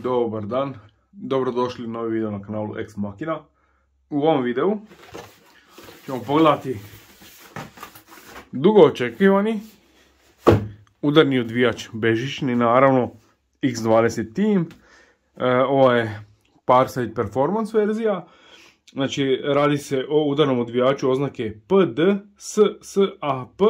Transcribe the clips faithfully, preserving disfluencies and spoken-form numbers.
Dobar dan, dobrodošli u novi video na kanalu Ex Machina. U ovom videu ćemo pogledati dugo očekivani udarni odvijač bežični, naravno X dvadeset Team. E, ovo je Parside Performance verzija. Znači radi se o udarnom odvijaču oznake P D S S A P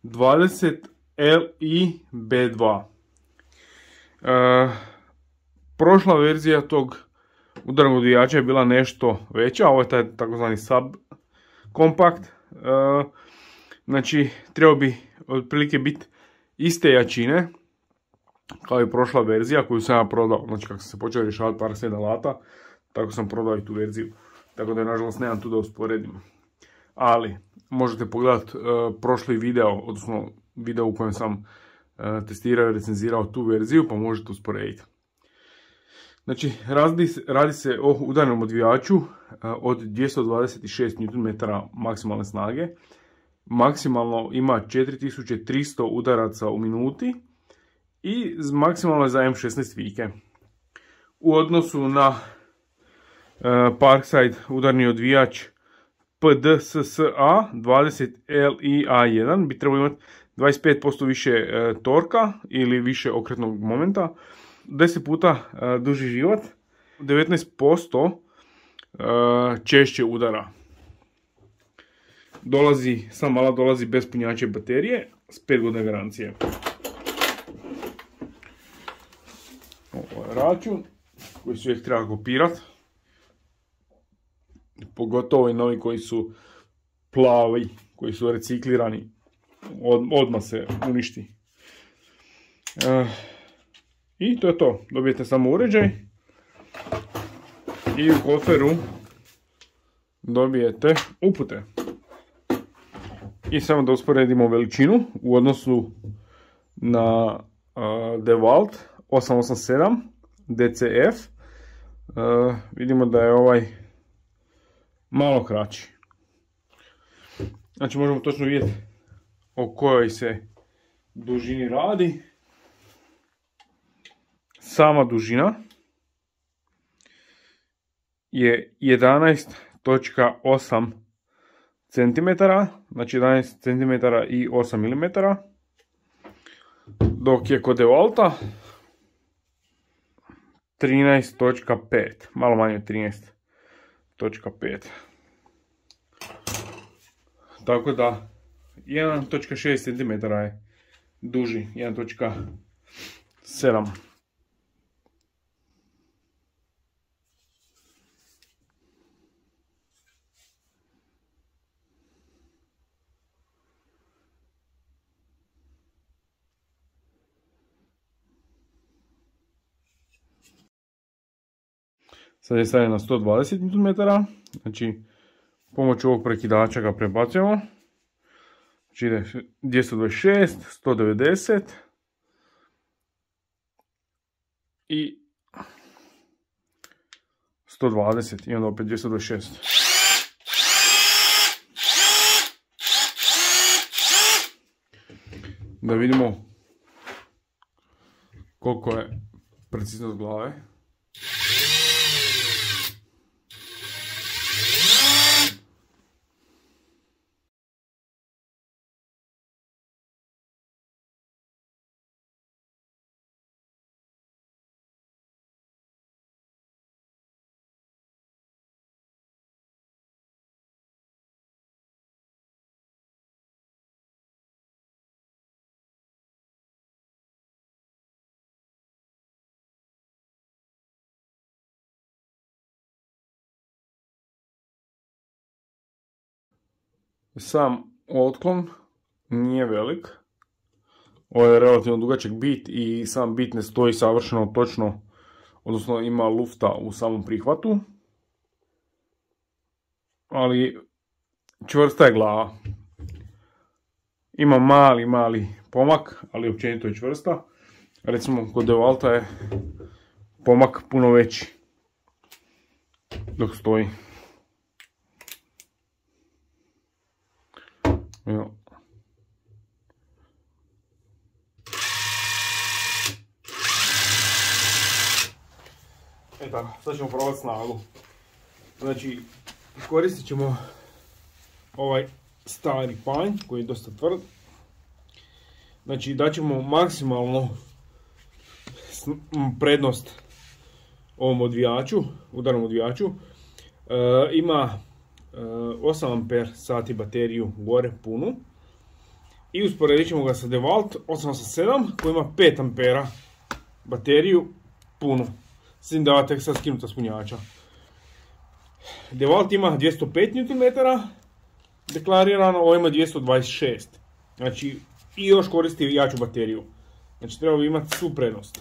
dvadeset L I B dva. E, prošla verzija tog udarnog odvijača je bila nešto veća, ovo je taj takozvani sub kompakt. E, znači trebao bi otprilike biti iste jačine kao i prošla verzija koju sam ja prodao. Znači kako sam se počeo rješavati Parside alata, tako sam prodao i tu verziju. Tako da nažalost nemam tu da usporedim. Ali možete pogledati uh, prošli video, odnosno video u kojem sam uh, testirao i recenzirao tu verziju, pa možete usporediti. Znači radi, radi se o udarnom odvijaču uh, od dvjesto dvadeset šest newton metara maksimalne snage. Maksimalno ima četiri tisuće tristo udaraca u minuti i maksimalno je za M šesnaest vike. U odnosu na uh, Parside udarni odvijač P D S S A dvadeset L I A jedan bi trebao imati dvadeset pet posto više uh, torka ili više okretnog momenta, deset puta uh, duži život, devetnaest posto uh, češće udara. Dolazi, sam alat dolazi bez punjače baterije s pet godina garancije. Ovo je račun koji se uvijek treba kopirati. Pogotovo i novi koji su plavi, koji su reciklirani. Od, odmah se uništi. E, I to je to. Dobijete samo uređaj. I u koferu dobijete upute. I samo da usporedimo veličinu u odnosu na uh, DeWalt osam osam sedam D C F. Uh, vidimo da je ovaj malo kraći. Znači možemo točno vidjeti o kojoj se dužini radi. Sama dužina je jedanaest zarez osam centimetara, znači jedanaest centimetara i osam milimetara, dok je kod DeWalta trinaest zarez pet, malo manje od trinaest zarez pet. Tako da jedan zarez šest centimetara je duži, jedan zarez sedam. Sad je stavljen na sto dvadeset newton metara, znači pomoću ovog prekidača ga prebacujemo. Znači ide dvjesto dvadeset šest, sto devedeset i sto dvadeset i onda opet dvjesto dvadeset šest. Da vidimo koliko je preciznost glave. Sam otklon nije velik. Ovo je relativno dugačak bit i sam bit ne stoji savršeno točno, odnosno ima lufta u samom prihvatu. Ali čvrsta je glava. Ima mali, mali pomak, ali općenito je čvrsta. Recimo kod DeWalta je pomak puno veći dok stoji. Evo. E tako, sad ćemo probati snagu. Znači, koristit ćemo ovaj stari panj koji je dosta tvrd. Znači, daćemo maksimalno prednost ovom odvijaču, udarnom odvijaču. E, ima e, osam amper sati bateriju gore punu. I usporedit ćemo ga sa DeWalt osam osam sedam koji ima pet ampera bateriju punu. S tim da tek sad skinuta s punjača. DeWalt ima dvjesto pet newton metara deklarirano, ovo ima dvjesto dvadeset šest. Znači, i još koristi jaču bateriju. Znači, treba bi imati svu prednost.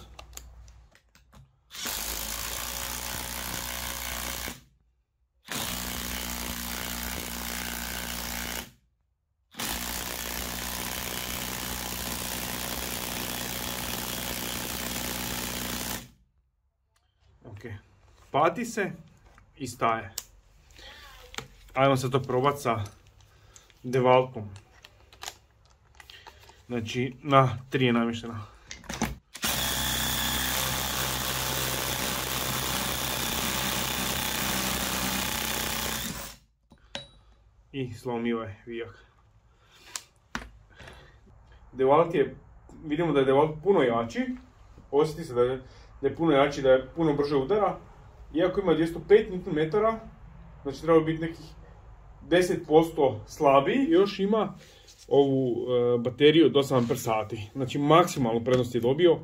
Ok, pati se i staje. Ajmo se to probati sa DeWaltom. Znači, na tri je namještena. I slomio je vijak. DeWalt je, vidimo da je DeWalt puno jači. Osjeti se da je, da je puno jači, da je puno brže udara. Iako ima dvjesto pet newton metara, znači treba biti nekih deset posto slabiji. Još ima ovu e, bateriju od osam amper sati. Znači maksimalnu prednost je dobio.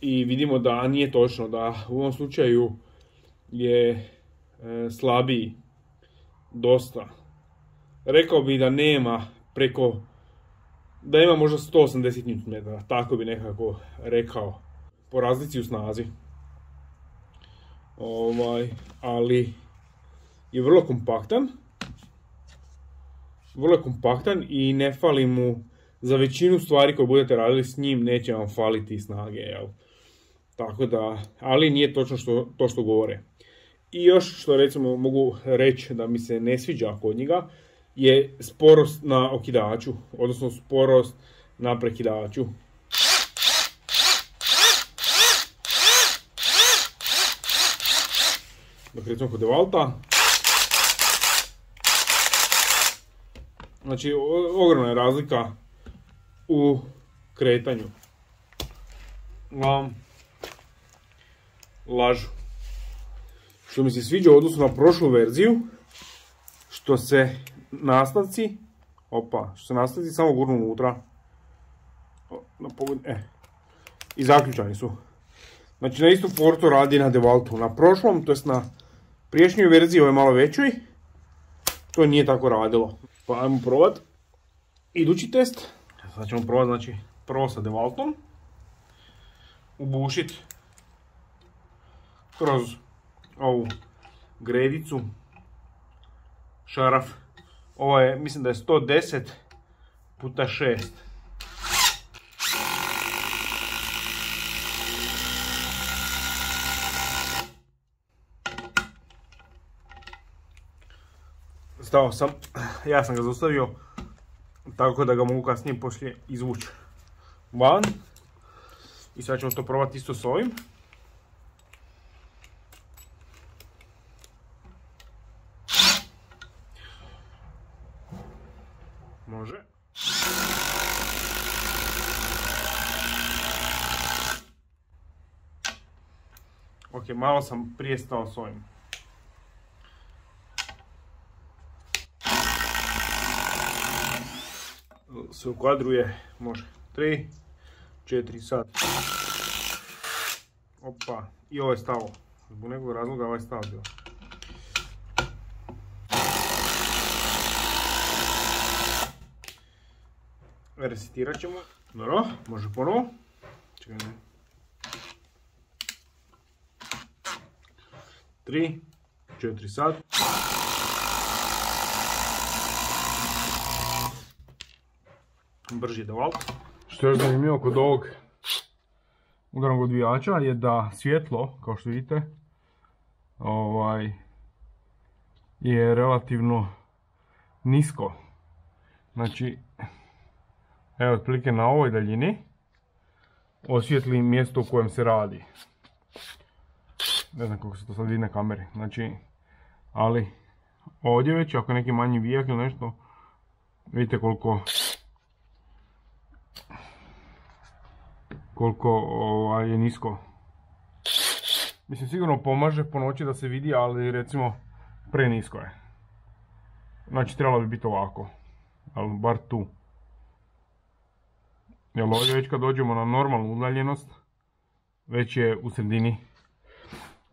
I vidimo da nije točno, da u ovom slučaju je e, slabiji dosta. Rekao bi da nema preko, da ima možda sto osamdeset newton metara, tako bi nekako rekao, po razlici u snazi. Ovaj, ali je vrlo kompaktan. Vrlo kompaktan i ne fali mu, za većinu stvari koje budete radili s njim neće vam faliti snage, jel? Tako da, ali nije točno što, to što govore. I još što recimo mogu reći da mi se ne sviđa kod njega je sporost na okidaču, odnosno sporost na prekidaču. Dok recimo kod DeWalta, znači ogromna je razlika u kretanju. Vam lažu. Što mi se sviđa u odnosu na prošlu verziju, što se nastavci, opa, što se nastavci samo gurnu unutra. Na pogled, e, i zaključani su. Znači na istu portu radi na DeWaltu. Na prošlom, to jest na priješnjoj verziji, ovo je malo većoj, to nije tako radilo. Pa ajmo probati idući test. Sad ćemo probati, znači, prvo sa DeWaltom ubušiti kroz ovu gredicu šaraf. Ovo je, mislim da je sto deset puta šest. Stao sam, ja sam ga zaustavio, tako da ga mogu kasnije poslije izvući van. I sad ćemo to probati isto s ovim. Može. Ok, malo sam prije stao s ovim. Se ukvadruje, može, tri, četiri sad. Opa, i ovo je stalo. Zbog nekog razloga ovo je stalo bilo. Resetirat ćemo. Dobro, može ponovo. Čekaj, ne. tri, četiri sad. Brži DeWalt. Što je zanimljivo kod ovog udarnog odvijača je da svjetlo, kao što vidite, ovaj, je relativno nisko. Znači, evo otprilike na ovoj daljini osvijetli mjesto u kojem se radi. ne znam koliko se to sad vidi na kameri, znači, ali ovdje već ako je neki manji vijak ili nešto, vidite koliko koliko ovaj, je nisko. Mislim, sigurno pomaže po noći da se vidi, ali recimo prenisko je. Znači trebalo bi biti ovako, ali bar tu. Jer ovdje već kad dođemo na normalnu udaljenost, već je u sredini.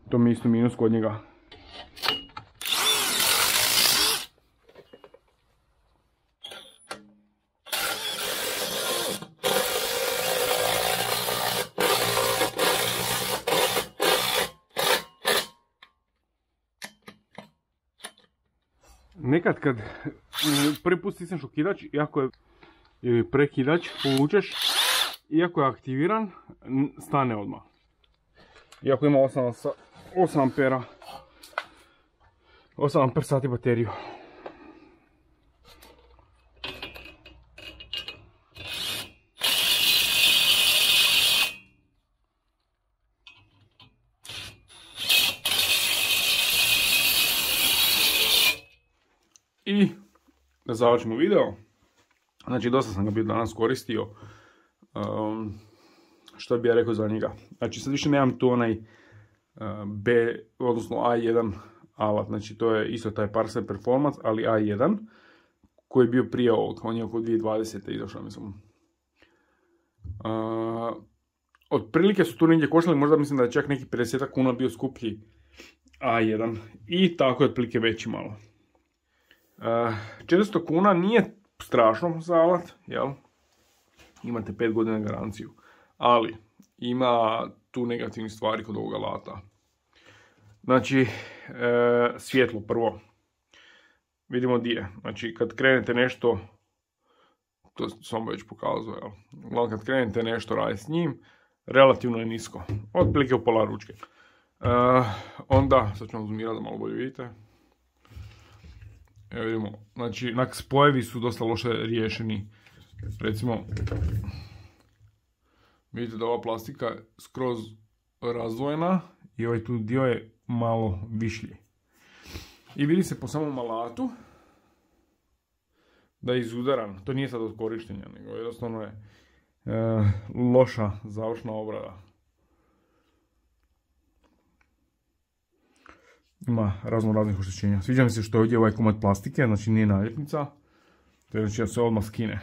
To mi je isto minus kod njega. Nekad kad prvi put stisneš okidač, iako je ili prekidač, povučeš, iako je aktiviran, stane odmah. Iako ima osam ampera, osam amper sati bateriju. I da završimo video, znači dosta sam ga bio danas koristio, um, što bi ja rekao za njega. Znači sad više nemam tu onaj uh, B, odnosno A jedan alat, znači to je isto taj Parcel Performance, ali A jedan, koji je bio prije ovog, on je oko dvije tisuće dvadesete izašao, mislim. Uh, otprilike su tu negdje koštali, možda mislim da je čak neki pedeset kuna bio skuplji A jedan i tako je otprilike veći malo. Uh, četiristo kuna nije strašno za alat, jel? Imate pet godina garanciju, ali ima tu negativnih stvari kod ovog alata. Znači, e, svjetlo prvo. Vidimo di je. Znači, kad krenete nešto, to sam već pokazao, jel? Kad krenete nešto raditi s njim, relativno je nisko. Otprilike u pola ručke. E, onda, sad ću vam zoomirati da malo bolje vidite. Evo vidimo, znači, spojevi su dosta loše riješeni. Recimo, vidite da ova plastika je skroz razdvojena i ovaj tu dio je malo višlji. I vidi se po samom alatu da je izudaran. To nije sad od korištenja, nego jednostavno je e, loša završna obrada. Ima razno raznih oštećenja. Sviđa mi se što je ovdje ovaj komad plastike, znači nije naljepnica. To je znači da se odmah skine.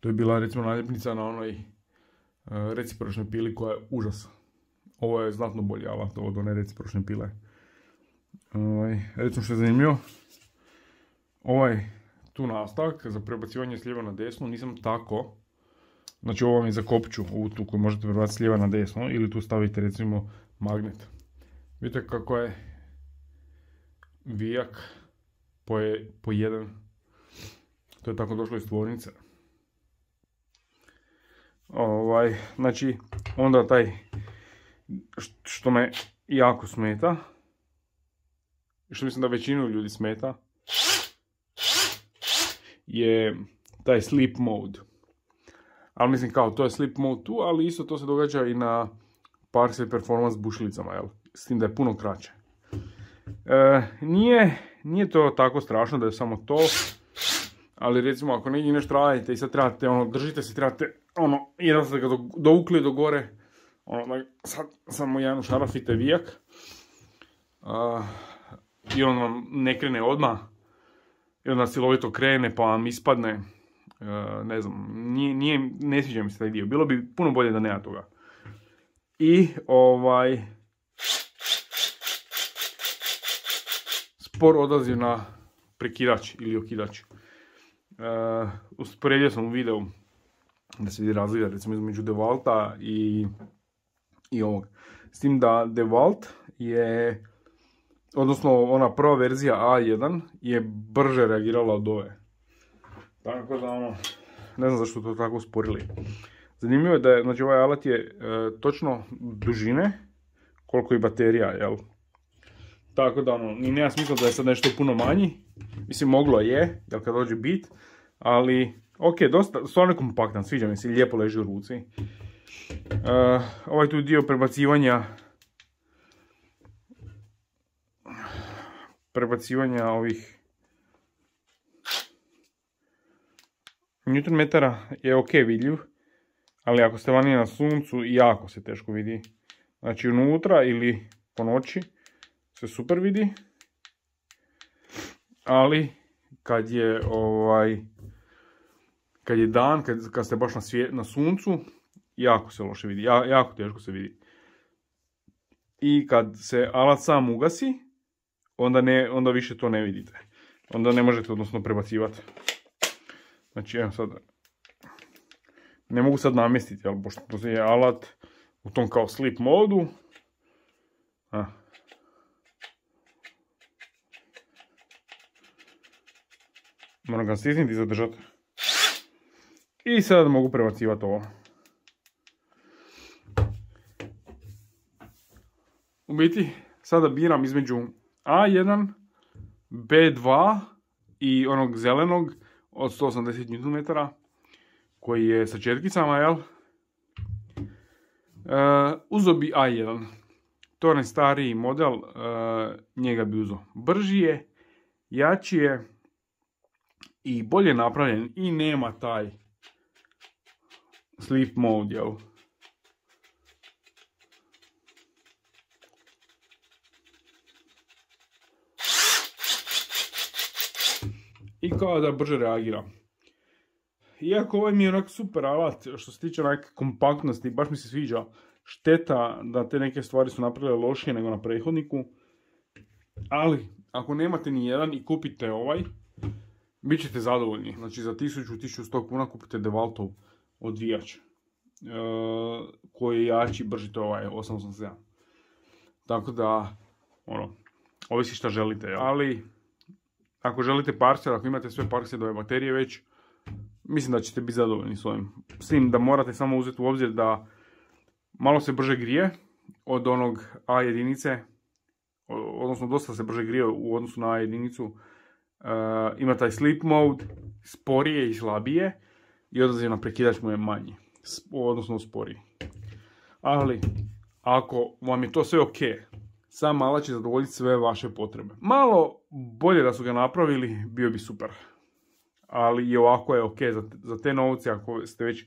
To je bila recimo naljepnica na onoj uh, recipročnoj pili koja je užas. Ovo je znatno bolji alat od one recipročne pile. Uh, recimo što je zanimljivo, ovaj tu nastavak za prebacivanje s lijeva na desno nisam tako. Znači ovo vam je za kopču, ovu tu koju možete prebaciti s lijeva na desno ili tu stavite recimo magnet. Vidite kako je vijak po, je, po jedan. To je tako došlo iz tvornice. Ovaj, znači, onda taj što me jako smeta, što mislim da većinu ljudi smeta, je taj sleep mode. Ali mislim kao, to je sleep mode tu, ali isto to se događa i na Parcel Performance bušilicama, jel? S tim da je puno kraće. E, nije, nije to tako strašno da je samo to, ali recimo ako negdje nešto radite i sad trebate, ono, držite se, trebate, ono, jedan ste ga dovukli do gore, ono, sad samo jedan šarafite vijak, uh, i on vam ne krene odmah, i onda silovito krene pa vam ispadne, uh, ne znam, nije, nije, ne sviđa mi se taj dio, bilo bi puno bolje da nema toga. I ovaj, spor odaziv na prekidač ili okidač. Uh, usporedio sam u videu da se vidi razlika recimo između DeWalta i, i ovog. S tim da DeWalt je, odnosno ona prva verzija A jedan je brže reagirala od ove. Tako da ono, ne znam zašto to tako usporili. Zanimljivo je da je, znači ovaj alat je e, točno dužine koliko i baterija, jel? Tako da ono, ni nema smisla da je sad nešto puno manji. Mislim, moglo je, jel kad dođe bit, ali ok, dosta, stvarno je kompaktan, sviđa mi se, lijepo leži u ruci. Uh, ovaj tu dio prebacivanja prebacivanja ovih newton metara je ok vidljiv, ali ako ste vani na suncu jako se teško vidi. Znači unutra ili po noći se super vidi, ali kad je ovaj kad je dan, kad, kad ste baš na, svije, na suncu, jako se loše vidi, ja, jako teško se vidi. I kad se alat sam ugasi, onda, ne, onda više to ne vidite. Onda ne možete odnosno prebacivati. Znači evo sad, ne mogu sad namjestiti, ali pošto je alat u tom kao sleep modu. A. Moram ga stisniti i zadržati. I sad mogu prebacivati ovo. U biti, sada biram između A jedan, B dva i onog zelenog od sto osamdeset newton metara koji je sa četkicama, jel? Uh, uzo bi A jedan. To je onaj stariji model, uh, njega bi uzo. Brži je, jači je i bolje napravljen i nema taj sleep mode, jel? I kao da brže reagira. Iako ovaj mi je onak super alat što se tiče onak kompaktnosti, baš mi se sviđa. Šteta da te neke stvari su napravile lošije nego na prethodniku. Ali, ako nemate ni jedan i kupite ovaj, bit ćete zadovoljni. Znači za tisuću do tisuću sto kuna kupite DeWaltov odvijač. E, koji je jači, brži, to ovaj osam osam sedam. Tako da, ono, ovisi šta želite, ali ako želite parser, ako imate sve parserove baterije već, mislim da ćete biti zadovoljni s ovim. S tim da morate samo uzeti u obzir da malo se brže grije od onog A jedinice, odnosno dosta se brže grije u odnosu na A jedinicu. Uh, ima taj sleep mode, sporije i slabije i odaziv na prekidač mu je manji, odnosno sporiji. Ali, ako vam je to sve ok, sam alat će zadovoljiti sve vaše potrebe. Malo bolje da su ga napravili, bio bi super. Ali i ovako je ok za, za te novce ako ste već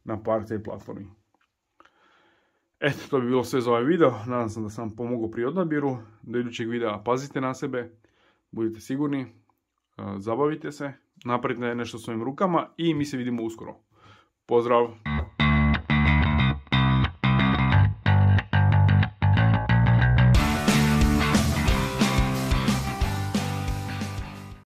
na parcej platformi. Eto, to bi bilo sve za ovaj video. Nadam se da sam vam pomogao pri odabiru. Do idućeg videa pazite na sebe, budite sigurni, zabavite se, napravite nešto svojim rukama i mi se vidimo uskoro. Pozdrav!